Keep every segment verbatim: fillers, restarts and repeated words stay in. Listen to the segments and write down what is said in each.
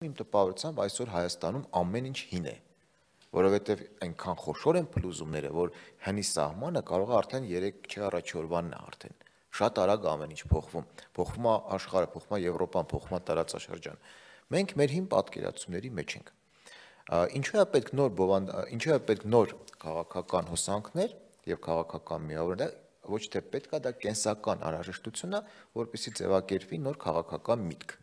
Իմ տպավորությամբ այսօր Հայաստանում ամեն ինչ հին է, որովհետև այնքան խոշոր են փլուզումները, որ հնի սահմանը կարող է արդեն երեք չէ առաջ օրվանն է արդեն։ Շատ արագ ամեն ինչ փոխվում, փոխվում է աշխարհը, փոխվում է Եվրոպան, փոխվում է տարածաշրջան։ Մենք մեր հին պատկերացումների մեջ ենք։ Ինչու է պետք նոր բովանդ, ինչու է պետք նոր քաղաքական հոսանքներ եւ քաղաքական միավորներ, ոչ թե պետք է դա կենսական անհրաժեշտություն է, որպեսզի ձևակերպվի նոր քաղաքական միտք։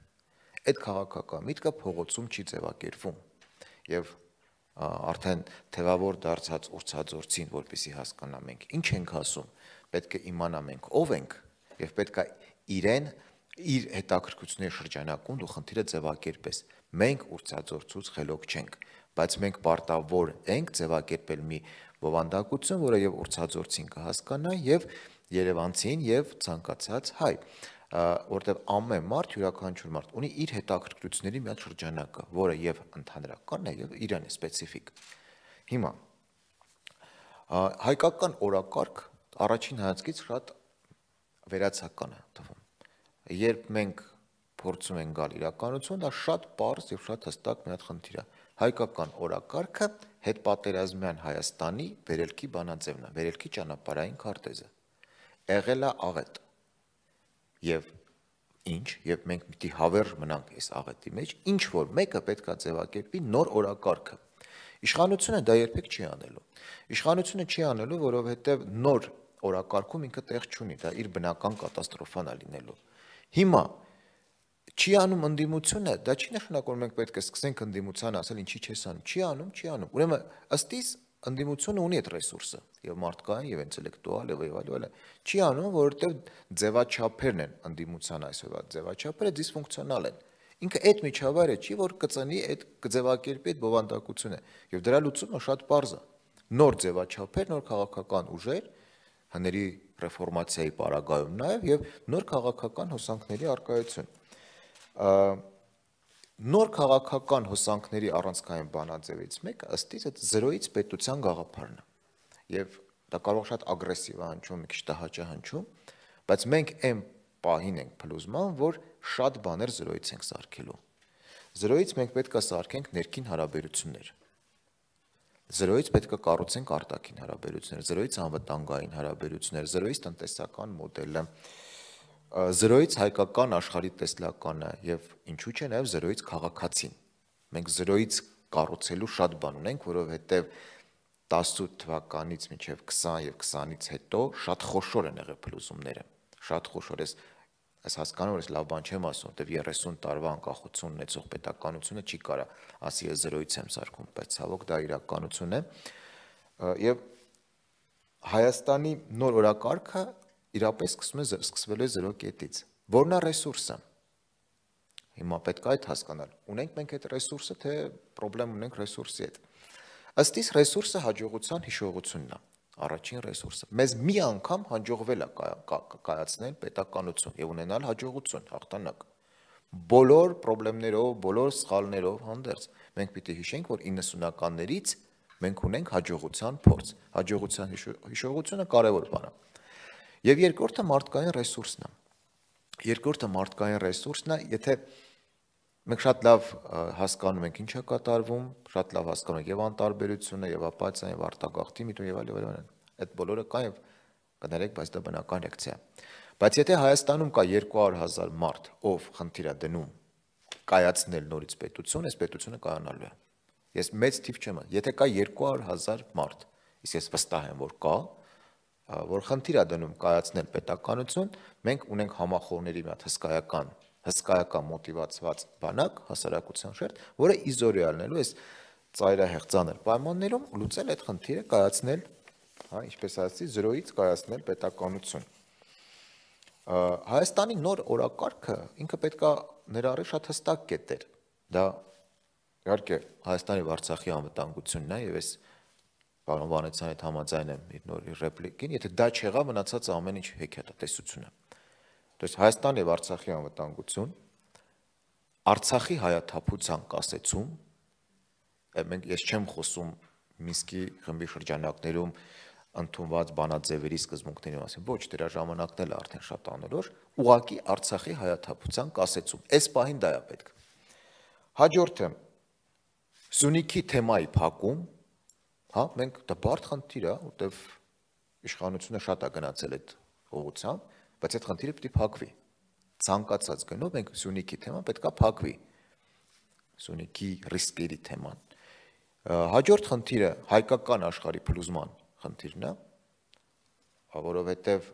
Այդ քաղաքական միտքը փողոցում չի ձևակերպվում եւ արդեն թևավոր դարձած ուրցաձորցին, որպեսզի հասկանա մենք ինչ ենք ասում, պետք է իմանա մենք ով ենք եւ պետք է իրեն իր հետաքրքրությունների շրջանակում դու խնդիրը ձևակերպես։ Մենք ուրցաձորցուց խելոք չենք, բայց մենք պարտավոր ենք ձևակերպել մի բովանդակություն, որը եւ ուրցաձորցին կհասկանա եւ Երևանցին եւ ցանկացած հայ, որտեղ ամեն մարդ, յուրաքանչյուր մարդ ունի իր հետաքրքրությունների մի հատ շրջանակը, որը եւ ընդհանրականն է եւ իրեն է սպეციფիկ։ Հիմա հայկական օրակարգ առաջին հայացքից շատ վերացական է թվում։ Երբ մենք փորձում ենք գալ իրականություն, դա շատ պարզ եւ շատ հստակ մի հատ խնդիր է։ Հայկական օրակարգը հետպատերազմյան Հայաստանի վերելքի բանաձևն է, վերելքի ճանապարհային քարտեզը։ Եղել է աղետ։ Եվ ինչ, եւ մենք պիտի հավերժ մնանք այս աղետի մեջ, ինչ որ մեկը պետք է ձևակերպի նոր օրակարգը։ Իշխանությունը դա երբեք չի անելու։ Իշխանությունը չի անելու, որովհետեւ նոր օրակարգում ինքը տեղ չունի, դա իր բնական կատաստրոֆան է լինելու։ Հիմա չի անում ընդդիմությունը, դա չի նշանակում մենք պետք է սկսենք ընդդիմության ասել ինչի չես անում, չի անում, չի անում։ Ուրեմն ըստ իս ընդդիմությունը ունի այդ ռեսուրսը, եւ մարդկային, եւ ինտելեկտուալ, եւ այլ այլ։ Չի անում, որովհետեւ ձևաչափերն են ընդդիմության այսօրվա ձևաչափերը դիսֆունկցիոնալ են։ Ինքը այդ միջավայրը չի, որ կծնի այդ կձևակերպի այդ բովանդակությունը, եւ դրա լուծումը շատ պարզ է։ Նոր ձևաչափեր, նոր քաղաքական ուժեր, հների ռեֆորմացիայի պարագայում նաեւ եւ նոր քաղաքական հոսանքների արկայություն։ Նոր քաղաքական հոսանքների առանցքային բանաձևից մեկը ըստ իս այդ զրոյից պետության գաղափարն է։ Եվ դա կարող շատ ագրեսիվ է հնչում, մի քիչ տհաճ է հնչում, բայց մենք այն պահին ենք փլուզման, որ շատ բաներ զրոյից ենք սարքելու։ Զրոյից մենք պետք է սարքենք ներքին հարաբերություններ։ Զրոյից պետք է կառուցենք արտաքին հարաբերություններ, զրոյից անվտանգային հարաբերություններ, զրոյից տնտեսական մոդելը, զրոյից հայկական աշխարհի տեսլականը եւ ինչու՞ չէ նաեւ զրոյից քաղաքացին։ Մենք զրոյից կառուցելու շատ բան ունենք, որովհետեւ տասնութ թվականից մինչեւ քսան եւ քսանից հետո շատ խոշոր են եղել փլուզումները։ Շատ խոշոր է, այս հասկանում որ ես լավ բան չեմ ասում, որտեւ երեսուն տարվա անկախություն ունեցող պետականությունը չի կարա ասի ես զրոյից եմ սարքում, բայց ցավոք դա իրականություն է։ Եվ Հայաստանի նոր օրակարգը իրապես սկսում է սկսվել է զրո կետից։ Որն է ռեսուրսը։ Հիմա պետք է այդ հասկանալ։ Ունենք մենք այդ ռեսուրսը, թե խնդրեմ ունենք ռեսուրսի հետ։ Ըստ իս ռեսուրսը հաջողության հիշողությունն է, առաջին ռեսուրսը։ Մեզ մի անգամ հաջողվել է կայացնել պետականություն եւ ունենալ հաջողություն, հաղթանակ։ Բոլոր խնդիրներով, բոլոր սխալներով հանդերձ մենք պիտի հիշենք, որ իննսունականներից մենք ունենք հաջողության փորձ։ Հաջողության հիշողությունը կարևոր բան է։ Եվ երկրորդը մարդկային ռեսուրսն է։ Երկրորդը մարդկային ռեսուրսն է, եթե մենք շատ լավ հասկանում ենք ինչ է կատարվում, շատ լավ հասկանում ենք եւ անտարբերությունը, եւ ապաթիան, եւ արտագաղթի միտում եւ այլ եւ այլ։ Այդ բոլորը կա եւ կներեք, բայց դա բնական ռեակցիա է։ Բայց եթե Հայաստանում կա երկու հարյուր հազար մարդ, ով խնդիր է դնում կայացնել նորից պետություն, այս պետությունը կայանալու է։ Ես մեծ թիվ չեմ, եթե կա երկու հարյուր հազար մարդ, իսկ ես վստահ եմ, որ կա, որ խնդիր է դնում կայացնել պետականություն, մենք ունենք համախոհների մի հատ հսկայական, հսկայական մոտիվացված բանակ, հասարակության շերտ, որը իզորիալնելու այս ծայրահեղ ծանր պայմաններում լուծել այդ խնդիրը կայացնել, հա, ինչպես ասացի, զրոյից կայացնել պետականություն։ Հայաստանի նոր օրակարգը ինքը պետք է ներառի շատ հստակ կետեր։ Դա իհարկե Հայաստանի եւ Արցախի անվտանգությունն է եւ այս Պարոն Վանեցյանի հետ համաձայն եմ իր նոր ռեպլիկին, եթե դա չեղա մնացած ամեն ինչ հեքիաթատեսություն է։ Դες Հայաստանի եւ Արցախի անվտանգություն, Արցախի հայաթափության կասեցում, մենք ես չեմ խոսում Մինսկի խմբի շրջանակներում ընդունված բանաձևերի սկզբունքների մասին, ոչ, դրա ժամանակն էլ արդեն շատ անորոշ, ուղղակի Արցախի հայաթափության կասեցում։ Այս պահին դա է պետք։ Հաջորդը Սյունիքի թեմայի փակում, հա, մենք դա բարդ խնդիր է, որտեվ իշխանությունը շատ է գնացել այդ ուղղությամբ, բայց այդ խնդիրը պետք է փակվի։ Ցանկացած գնով մենք Սյունիքի թեման պետք է փակվի։ Սյունիքի ռիսկերի թեման։ Հաջորդ խնդիրը հայկական աշխարհի փլուզման խնդիրն է, որովհետև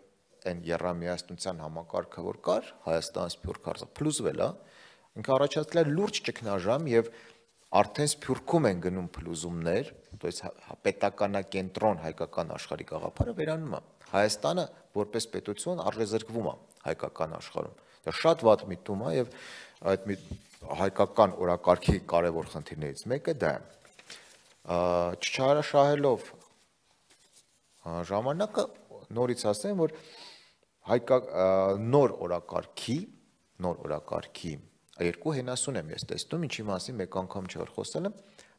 այն եռամիասնության համակարգը, որ կար, Հայաստան Սփյուռք հարցը փլուզվել է, ինքը առաջացել է լուրջ ճգնաժամ եւ արդեն Սփյուռքում են գնում փլուզումներ, то есть պետականակենտրոն հայկական աշխարհի գաղափարը վերանում է։ Հայաստանը որպես պետություն արժեզրկվում է հայկական աշխարհում։ Դա շատ վատ միտում է եւ այդ հայկական օրակարգի կարևոր խնդիրներից մեկը դա է։ Չչարաշահելով ժամանակը նորից ասեմ, որ հայկա նոր օրակարգի, նոր օրակարգի երկու հենասուն եմ ես տեսնում, ինչի մասին մեկ անգամ չէ որ խոսել եմ,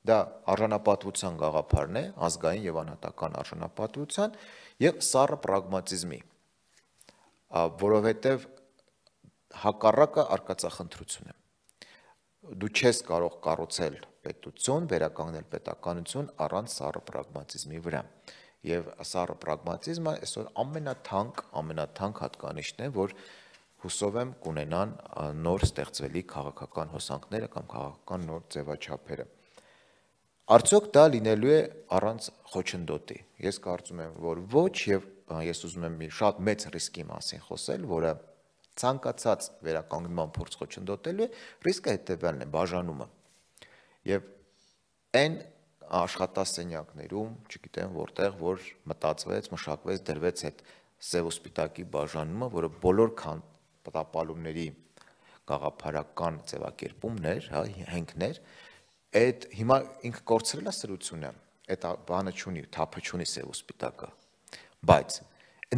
դա արժանապատվության գաղափարն է, ազգային եւ անհատական արժանապատվության եւ սառը պրագմատիզմի, որովհետեւ հակառակը արկածախնդրություն է։ Դու չես կարող կառուցել պետություն, վերականգնել պետականություն առանց սառը պրագմատիզմի վրա։ Եվ սառը պրագմատիզմը այսօր ամենաթանկ, ամենաթանկ հատկանիշն է, որ հուսով եմ կունենան նոր ստեղծվելի քաղաքական հոսանքները կամ քաղաքական նոր ձևաչափերը։ Արդյոք դա լինելու է առանց խոչընդոտի։ Ես կարծում եմ, որ ոչ, եւ ես ուզում եմ մի շատ մեծ ռիսկի մասին խոսել, որը ցանկացած վերականգնման փորձ խոչընդոտելու է, ռիսկը հետեւյալն է՝ բաժանումը։ Եվ այն աշխատասենյակներում, չգիտեմ որտեղ, որ մտածվեց, մշակվեց, դրվեց այդ սև ու սպիտակի բաժանումը, որը բոլոր տապալումների գաղափարական ձևակերպումներ, հա, հենքներ, այդ հիմա ինքը կորցրել է սրությունը, այդ բանը չունի, թափը չունի սև ու սպիտակը, բայց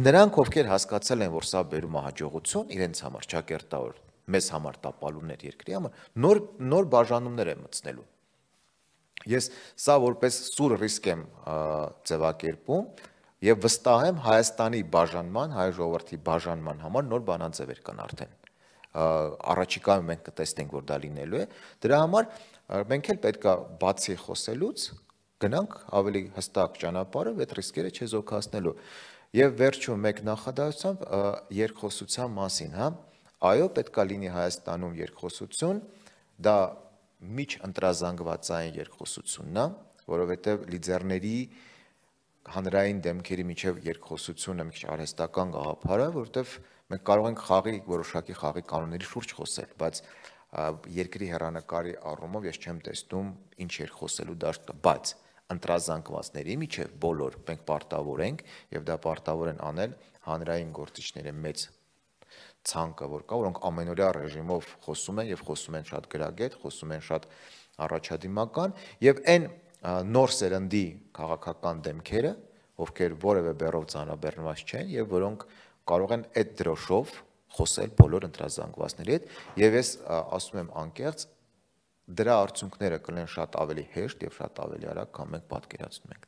նրանք, ովքեր հասկացել են, որ սա բերում է հաջողություն իրենց համար, ճակերտավոր, մեզ համար տապալումներ երկրի համար, նոր նոր բաժանումներ են մտցնելու։ Ես սա որպես սուր ռիսկ եմ ձևակերպում եւ վստահ եմ Հայաստանի բաժանման, հայ ժողովրդի բաժանման համար նոր բանաձևեր կան արդեն։ Առաջիկայում մենք կտեսնենք, որ դա լինելու է։ Դրա համար մենք էլ պետք է բացի խոսելուց գնանք ավելի հստակ ճանապարհով այդ ռիսկերը չեզոքացնելու։ Եվ վերջում մեկ նախադասությամբ երկխոսության մասին, հա, այո, պետք է լինի Հայաստանում երկխոսություն, դա միջ ընտրազանգվածային երկխոսությունն է, որովհետև լիդերների հանրային դեմքերի միջև երկխոսությունը մի քիչ արհեստական գաղափար է, որովհետև մենք կարող ենք խաղի որոշակի խաղի կանոնների շուրջ խոսել, բայց երկրի հեռանկարի առումով ես չեմ տեսնում ինչ երկխոսելու դաշտ կա, բայց ընտրազանգվածների միջև բոլոր մենք պարտավոր ենք եւ դա պարտավոր են անել հանրային գործիչների մեծ ցանկը, որ կա, որոնք ամենօրյա ռեժիմով խոսում են եւ խոսում են շատ գրագետ, խոսում են շատ առաջադիմական եւ այն նոր սերնդի քաղաքական դեմքերը, ովքեր որևէ բեռով ծանրաբեռնված չեն եւ որոնք կարող են այդ դրոշով խոսել բոլոր ընտրազանգվածների հետ եւ ես ասում եմ անկեղծ դրա արդյունքները կլինեն շատ ավելի հեշտ եւ շատ ավելի արագ, քան մենք պատկերացնում ենք։